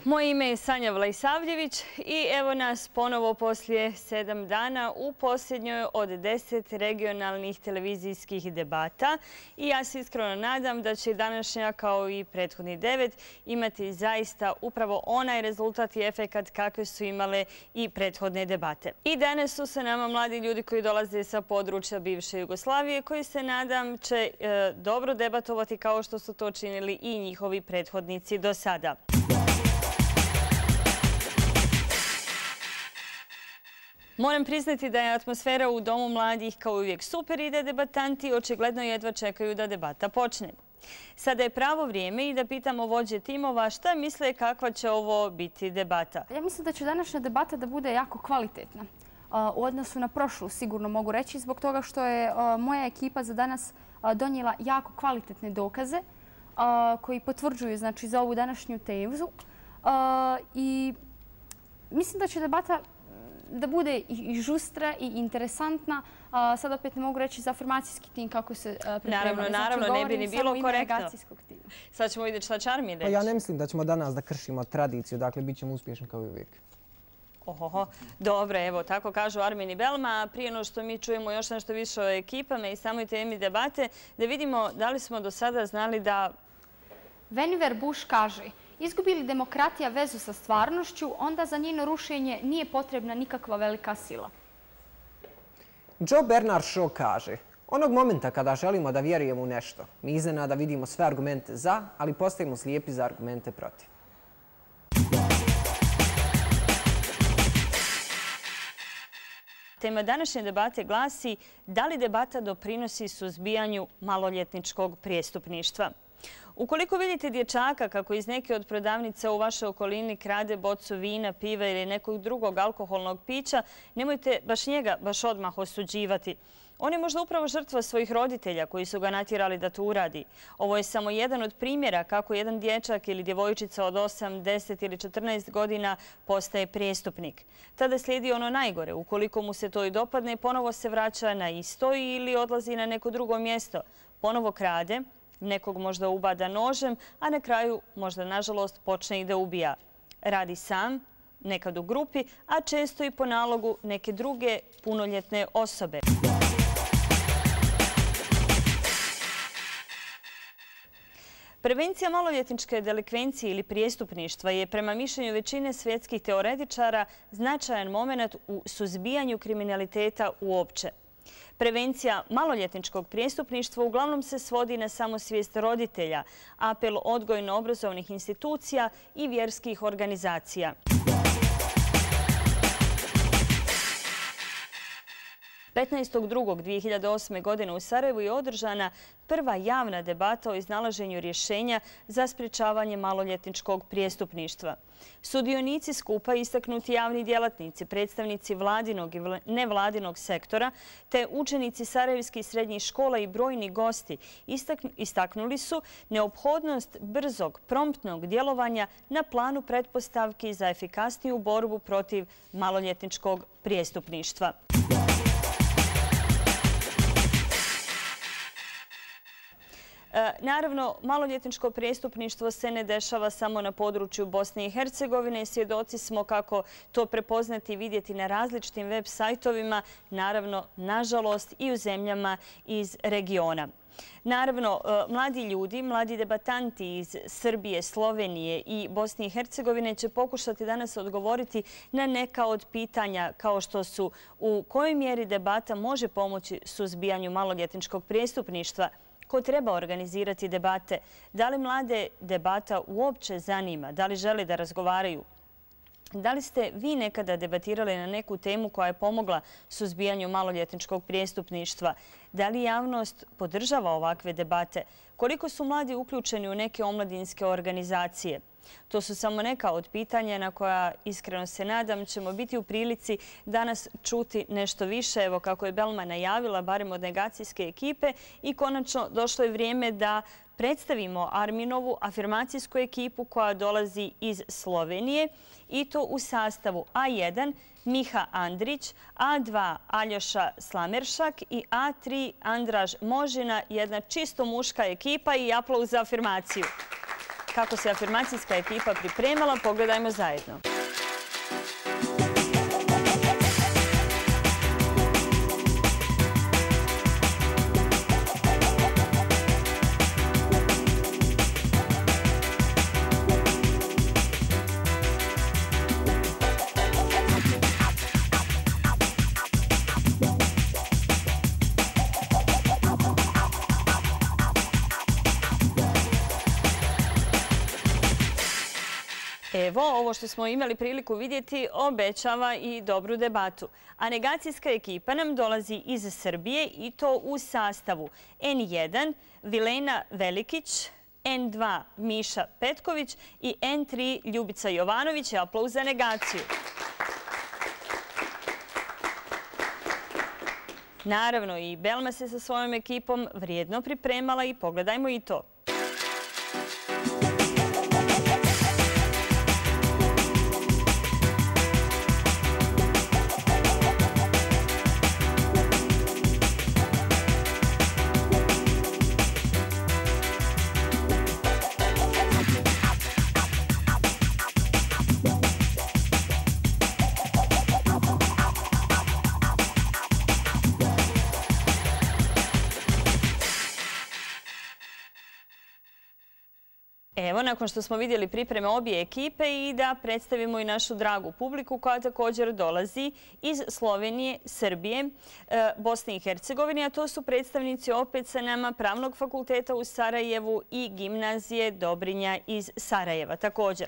Moje ime je Sanja Vlajsavljević i evo nas ponovo poslije 7 dana u posljednjoj od 10 regionalnih televizijskih debata. I ja se iskreno nadam da će današnja, kao i prethodni 9, imati zaista upravo onaj rezultat i efekat kakve su imale i prethodne debate. I danas su sa nama mladi ljudi koji dolaze sa područja bivše Jugoslavije, koji se nadam će dobro debatovati kao što su to činili i njihovi prethodnici do sada. Moram priznati da je atmosfera u Domu mladih kao uvijek super i da debatanti očigledno jedva čekaju da debata počne. Sada je pravo vrijeme i da pitamo vođe timova šta misle kakva će ovo biti debata. Ja mislim da će današnja debata da bude jako kvalitetna. U odnosu na prošlu, sigurno mogu reći, zbog toga što je moja ekipa za danas donijela jako kvalitetne dokaze koji potvrđuju za ovu današnju tezu. I mislim da će debata da bude i žustra i interesantna. Sad opet ne mogu reći za afirmacijski tim kako se pripremali. Naravno, ne bi ni bilo korektno. Sad ćemo vidjeti šta će Armin reći. Ja ne mislim da ćemo danas da kršimo tradiciju, dakle bit ćemo uspješni kao i uvijek. Dobro, evo, tako kažu Armin i Belma. Prije no što mi čujemo još nešto više o ekipama i samoj temi debate, da vidimo da li smo do sada znali da... Vannevar Bush kaže: izgubi li demokratija vezu sa stvarnošću, onda za njeno rušenje nije potrebna nikakva velika sila. Joe Bernard Shaw kaže: onog momenta kada želimo da vjerujemo u nešto, mi iznenada vidimo sve argumente za, ali postajemo slijepi za argumente protiv. Tema današnje debate glasi: da li debata doprinosi suzbijanju maloljetničkog prijestupništva? Ukoliko vidite dječaka kako iz neke od prodavnica u vašoj okolini krade bocu vina, piva ili nekog drugog alkoholnog pića, nemojte baš njega odmah osuđivati. On je možda upravo žrtva svojih roditelja koji su ga natjerali da to uradi. Ovo je samo jedan od primjera kako jedan dječak ili djevojčica od 8, 10 ili 14 godina postaje prijestupnik. Tada slijedi ono najgore. Ukoliko mu se to i dopadne, ponovo se vraća na isto ili odlazi na neko drugo mjesto. Ponovo krade, nekog možda ubada nožem, a na kraju možda nažalost počne i da ubija. Radi sam, nekad u grupi, a često i po nalogu neke druge punoljetne osobe. Prevencija maloljetničke delikvencije ili prijestupništva je prema mišljenju većine svjetskih teoretičara značajan moment u suzbijanju kriminaliteta uopće. Prevencija maloljetničkog prijestupništva uglavnom se svodi na samosvijest roditelja, apel odgojno-obrazovnih institucija i vjerskih organizacija. ...15.2.2008. godine u Sarajevu je održana prva javna debata o iznalaženju rješenja za sprječavanje maloljetničkog prijestupništva. Sudionici skupa, istaknuti javni djelatnici, predstavnici vladinog i nevladinog sektora, te učenici sarajevskih srednjih škola i brojni gosti istaknuli su neophodnost brzog, promptnog djelovanja na planu pretpostavki za efikasniju borbu protiv maloljetničkog prijestupništva. Naravno, maloljetničko prijestupništvo se ne dešava samo na području Bosne i Hercegovine. Svjedoci smo kako to prepoznati i vidjeti na različitim web sajtovima, naravno, nažalost, i u zemljama iz regiona. Naravno, mladi ljudi, mladi debatanti iz Srbije, Slovenije i Bosne i Hercegovine će pokušati danas odgovoriti na neka od pitanja kao što su u kojoj mjeri debata može pomoći suzbijanju maloljetničkog prijestupništva, ko treba organizirati debate, da li mlade debata uopće zanima, da li žele da razgovaraju. Da li ste vi nekada debatirali na neku temu koja je pomogla suzbijanju maloljetničkog prijestupništva? Da li javnost podržava ovakve debate? Koliko su mladi uključeni u neke omladinske organizacije? To su samo neka od pitanja na koja, iskreno se nadam, ćemo biti u prilici danas čuti nešto više. Evo, kako je Belma najavila, barem od negacijske ekipe, i konačno došlo je vrijeme da predstavimo Arminovu afirmacijsku ekipu koja dolazi iz Slovenije, i to u sastavu A1 Miha Andrić, A2 Aljoša Slameršak i A3 Andraž Možina, jedna čisto muška ekipa, i aplauz za afirmaciju. Kako se afirmacijska ekipa pripremala, pogledajmo zajedno. Evo, ovo što smo imali priliku vidjeti obećava i dobru debatu. A negacijska ekipa nam dolazi iz Srbije i to u sastavu N1 Vilena Velikić, N2 Miša Petković i N3 Ljubica Jovanović. Aplauz za negaciju. Naravno, i Belma se sa svojom ekipom vrijedno pripremala i pogledajmo i to. Evo, nakon što smo vidjeli pripreme obje ekipe i da predstavimo i našu dragu publiku koja također dolazi iz Slovenije, Srbije, Bosne i Hercegovine, a to su predstavnici opet sa nama Pravnog fakulteta u Sarajevu i Gimnazije Dobrinja iz Sarajeva također.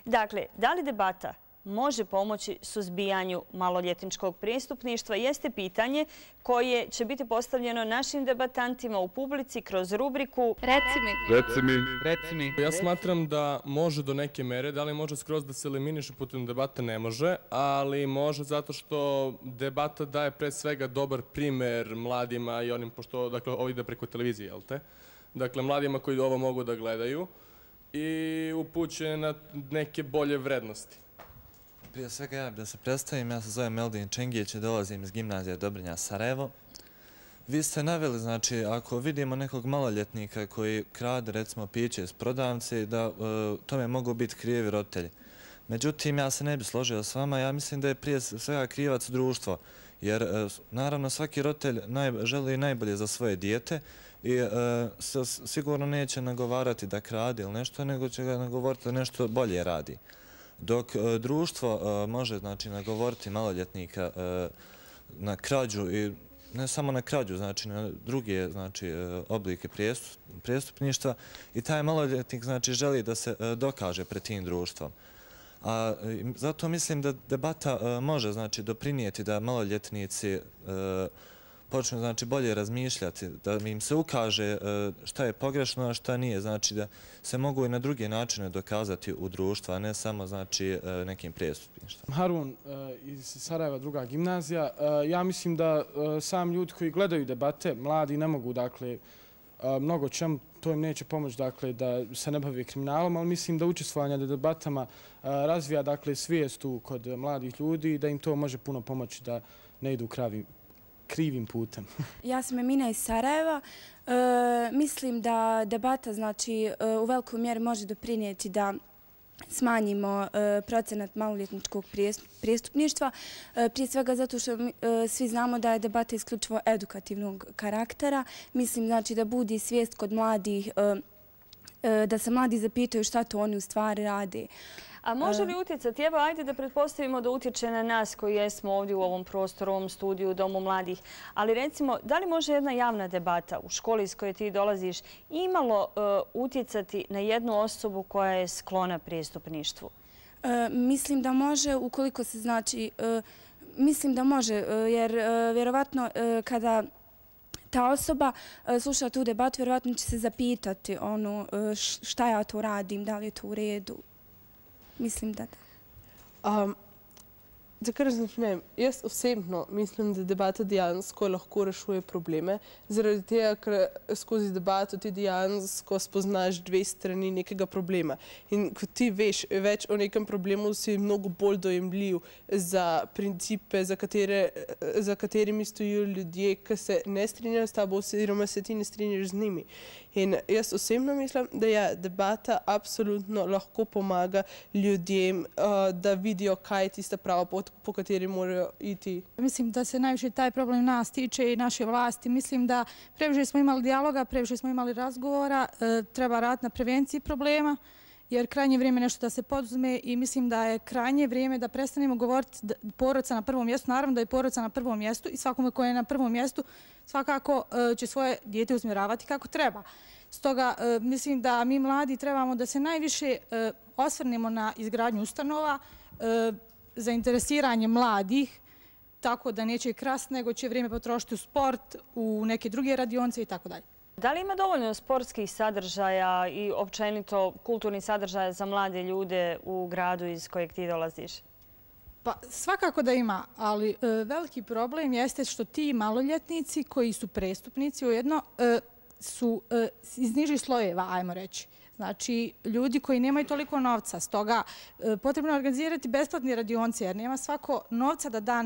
Dakle, da li debata može pomoći suzbijanju maloljetničkog prijestupništva jeste pitanje koje će biti postavljeno našim debatantima u publici kroz rubriku Reci mi. Ja smatram da može do neke mere, da li može skroz da se eliminiše putem debata, ne može, ali može zato što debata daje pre svega dobar primer mladima i onim, pošto ovo ide preko televizije, jel te? Dakle, mladima koji ovo mogu da gledaju i upućuje na neke bolje vrednosti. Prije svega ja da se predstavim, ja se zovem Meldin Čengić i dolazim iz Gimnazije Dobrinja Sarajevo. Vi ste naveli, znači, ako vidimo nekog maloljetnika koji krade, recimo, piće iz prodavnice, da tome mogu biti krivi roditelji. Međutim, ja se ne bi složio s vama, ja mislim da je prije svega krivac društvo, jer naravno svaki roditelj želi najbolje za svoje dijete i sigurno neće nagovarati da krade ili nešto, nego će ga nagovoriti da nešto bolje radi. Dok društvo može, znači, nagovoriti maloljetnika na krađu i ne samo na krađu, znači na druge, znači, oblike prijestupništva i taj maloljetnik, znači, želi da se dokaže pred tim društvom. A zato mislim da debata može, znači, doprinijeti da maloljetnici počnu, znači, bolje razmišljati, da im se ukaže šta je pogrešno, a šta nije, znači da se mogu i na druge načine dokazati u društvu, a ne samo, znači, nekim prijestupništvom. Harun iz Sarajeva, druga gimnazija. Ja mislim da sam ljudi koji gledaju debate, mladi, ne mogu, dakle, mnogo čemu, to im neće pomoći, dakle, da se ne bave kriminalom, ali mislim da učestvovanje na debatama razvija, dakle, svijestu kod mladih ljudi i da im to može puno pomoći da ne idu krivim putem. Ja sam Emina iz Sarajeva. Mislim da debata, znači, u velikoj mjeri može doprinijeti da smanjimo procenat maloljetničkog prijestupništva. Prije svega zato što svi znamo da je debata isključivo edukativnog karaktera. Mislim, znači, da budi svijest kod mladih, da se mladi zapitaju šta to oni u stvari rade. A može li utjecati? Evo, ajde da pretpostavimo da utječe na nas koji jesmo ovdje u ovom prostoru, u ovom studiju, u Domu mladih. Ali recimo, da li može jedna javna debata u školi iz koje ti dolaziš imalo utjecati na jednu osobu koja je sklona prijestupništvu? Mislim da može, ukoliko se, znači, mislim da može, jer vjerovatno kada ta osoba sluša tu debatu, vjerovatno će se zapitati šta ja to radim, da li je to u redu. Mislim da da. Da kar začnem, jaz osebno mislim, da debata dejansko lahko rešuje probleme, zaradi tega, ker skozi debato ti dejansko spoznaš dve strani nekega problema. In ko ti veš več o nekem problemu, si mnogo bolj dojemljiv za principe, za katerimi stojijo ljudje, ki se ne strinjajo s tabo oziroma se ti ne strinjaš z njimi. In jaz osebno mislim, da je debata absolutno lahko pomaga ljudem, da vidijo, kaj je tista prava pot, po kateri morajo iti. Mislim da se najviše taj problem nas tiče i naše vlasti. Mislim da previše smo imali dijaloga, previše smo imali razgovora, treba raditi na prevenciji problema, jer krajnje vrijeme nešto da se poduzme i mislim da je krajnje vrijeme da prestanemo govoriti porodica na prvom mjestu. Naravno da je porodica na prvom mjestu i svakome ko je na prvom mjestu svakako će svoje dijete usmjeravati kako treba. Stoga mislim da mi mladi trebamo da se najviše osvrnemo na izgradnju ustanova, zainteresiranje mladih, tako da neće krasti, nego će vrijeme potrošiti u sport, u neke druge radionice i tako dalje. Da li ima dovoljno sportskih sadržaja i općenito kulturnih sadržaja za mlade ljude u gradu iz kojeg ti dolaziš? Pa svakako da ima, ali veliki problem jeste što ti maloljetnici koji su prestupnici ujedno su iz nižih slojeva, ajmo reći. Znači, ljudi koji nemaju toliko novca. Stoga potrebno je organizirati besplatne radionce, jer nema svako novca da da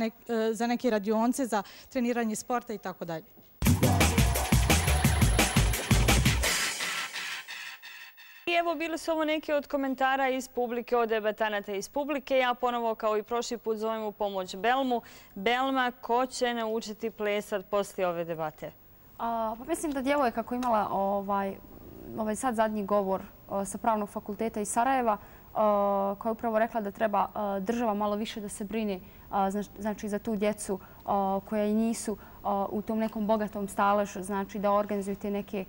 za neke radionce, za treniranje sporta i tako dalje. I evo, bili su ovo neki od komentara iz publike, od debatanata iz publike. Ja ponovo, kao i prošli put, zovem u pomoć Belmu. Belma, ko će naučiti plesat poslije ove debate? Mislim da djevojka koja je imala ovaj sad zadnji govor sa Pravnog fakulteta iz Sarajeva, koja je upravo rekla da treba država malo više da se brini znači za tu djecu koja i nisu u tom nekom bogatom staležu, znači da organizujete neke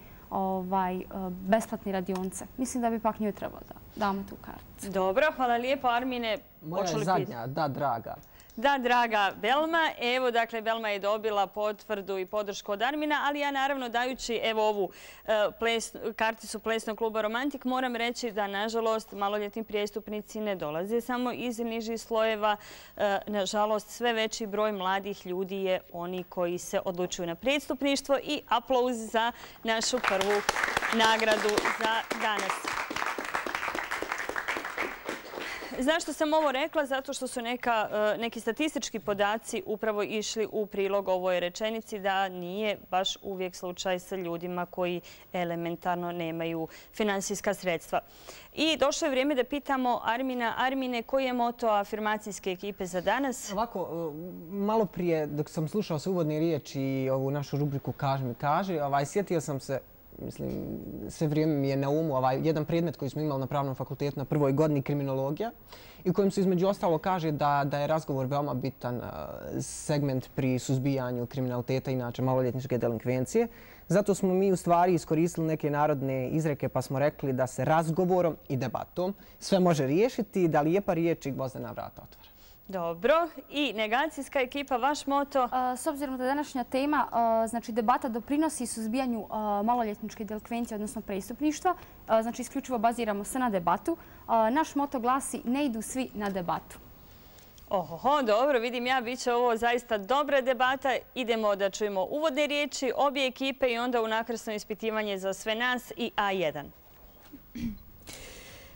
besplatne radionce. Mislim da bi pak njoj trebalo da damo tu kartu. Dobro, hvala lijepo, Armine. Moja je zadnja, da, draga. Da, draga Belma. Evo, dakle, Belma je dobila potvrdu i podršku od Armina, ali ja naravno dajući evo ovu karticu plesnog kluba Romantik moram reći da, nažalost, maloljetni prijestupnici ne dolaze samo iz nižih slojeva. Nažalost, sve veći broj mladih ljudi je oni koji se odlučuju na prijestupništvo i aplauz za našu prvu nagradu za danas. Zašto sam ovo rekla? Zato što su neki statistički podaci upravo išli u prilog ovoj rečenici da nije baš uvijek slučaj sa ljudima koji elementarno nemaju finansijska sredstva. I došlo je vrijeme da pitamo Armina. Armine, koji je moto afirmacijske ekipe za danas? Ovako, malo prije dok sam slušao se uvodne riječi i ovu našu rubriku Kaži mi kaži, sjetio sam se, mislim, sve vrijeme mi je na umu jedan predmet koji smo imali na Pravnom fakultetu na prvoj godini, kriminologija, i u kojem se između ostalo kaže da je razgovor veoma bitan segment pri suzbijanju kriminaliteta, inače maloljetničke delinkvencije. Zato smo mi u stvari iskoristili neke narodne izreke pa smo rekli da se razgovorom i debatom sve može riješiti, da lijepa riječ i gvozdena vrata otvara. Dobro. I negacijska ekipa, vaš moto? S obzirom da današnja tema, znači debata doprinosi suzbijanju maloljetničke delikvencije, odnosno prestupništva, znači isključivo baziramo se na debatu. Naš moto glasi ne idu svi na debatu. Oho, dobro, vidim ja, bit će ovo zaista dobra debata. Idemo da čujemo uvodne riječi obje ekipe i onda unakrsno ispitivanje za sve nas i A1.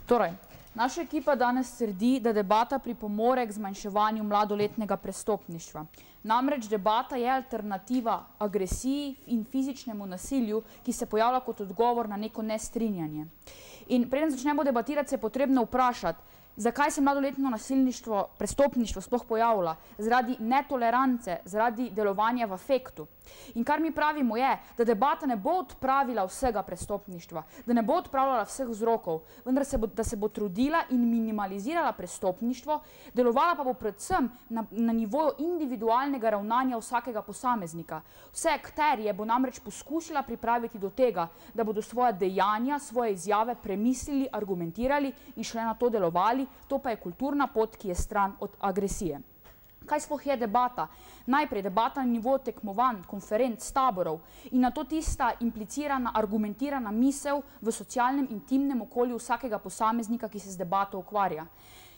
Torej, naša ekipa danes trdi, da debata pripomore k zmanjševanju mladoletnega prestopništva. Namreč debata je alternativa agresiji in fizičnemu nasilju, ki se pojavlja kot odgovor na neko nestrinjanje. In preden začnemo debatirati, se je potrebno vprašati, zakaj se mladoletno nasilništvo, prestopništvo sploh pojavlja? Zaradi netolerance, zaradi delovanja v afektu. In kar mi pravimo je, da debata ne bo odpravila vsega prestopništva, da ne bo odpravljala vseh vzrokov, vendar da se bo trudila in minimalizirala prestopništvo, delovala pa bo predvsem na nivoju individualnega ravnanja vsakega posameznika. Vse akterje bo namreč poskusila pripraviti do tega, da bodo svoja dejanja, svoje izjave premislili, argumentirali in šele na to delovali. To pa je kulturna pot, ki je stran od agresije. Kaj sploh je debata? Najprej debata na nivoju tekmovanj, konferenc, taborov in na to tista implicirana, argumentirana misel v socialnem, intimnem okolju vsakega posameznika, ki se z debato ukvarja.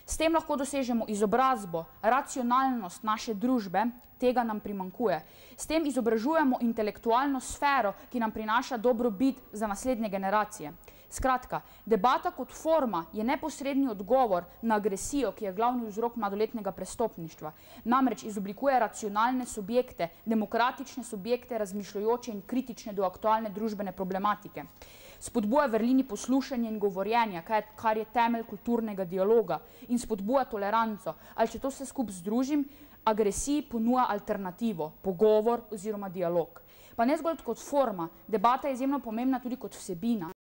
S tem lahko dosežemo izobrazbo, racionalnost naše družbe, tega nam primanjkuje. S tem izobražujemo intelektualno sfero, ki nam prinaša dobrobit za naslednje generacije. Skratka, debata kot forma je neposredni odgovor na agresijo, ki je glavni vzrok mladoletnega prestopništva. Namreč izoblikuje racionalne subjekte, demokratične subjekte, razmišljajoče in kritične do aktualne družbene problematike. Spodbuja vrlini poslušanja in govorjenja, kar je temelj kulturnega dialoga, in spodbuja toleranco. Ali če to vse skupaj združim, agresiji ponuja alternativo, pogovor oziroma dialog. Pa ne zgolj kot forma, debata je izjemno pomembna tudi kot vsebina.